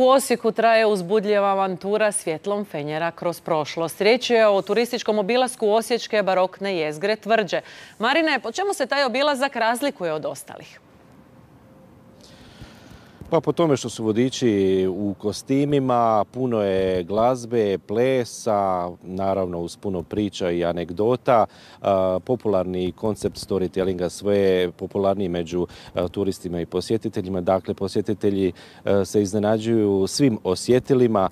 U Osijeku traje uzbudljiva avantura svjetlom fenjera kroz prošlost. Riječ je o turističkom obilasku osječke barokne jezgre Tvrđe. Marine, po čemu se taj obilazak razlikuje od ostalih? Pa po tome što su vodiči u kostimima, puno je glazbe, plesa, naravno uz puno priča i anegdota. Popularni koncept storytellinga sve je popularniji među turistima i posjetiteljima. Dakle, posjetitelji se iznenađuju svim osjetilima.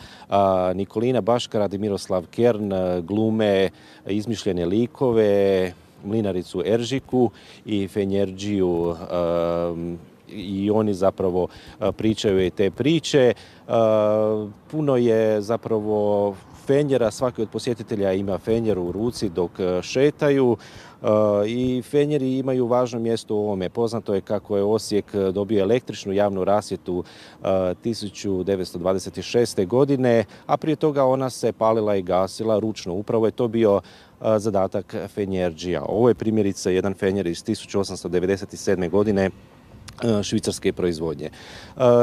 Nikolina Baškarad i Miroslav Kern glume izmišljene likove, mlinaricu Eržiku i fenjerđiju i oni zapravo pričaju i te priče. Puno je zapravo fenjera, svaki od posjetitelja ima fenjer u ruci dok šetaju i fenjeri imaju važno mjesto u ovome. Poznato je kako je Osijek dobio električnu javnu rasvjetu 1926. godine, a prije toga ona se palila i gasila ručno. Upravo je to bio zadatak fenjerđija. Ovo je primjerice jedan fenjer iz 1897. godine švicarske proizvodnje.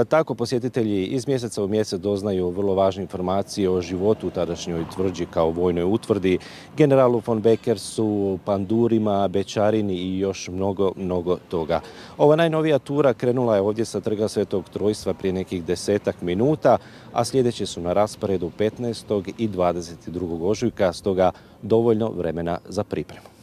Tako posjetitelji iz mjeseca u mjesec doznaju vrlo važne informacije o životu u tadašnjoj Tvrđi kao vojnoj utvrdi, generalu von Beckersu, pandurima, bećarini i još mnogo toga. Ova najnovija tura krenula je ovdje sa Trga Svetog Trojstva prije nekih 10 minuta, a sljedeće su na rasporedu 15. i 22. ožujka, stoga dovoljno vremena za pripremu.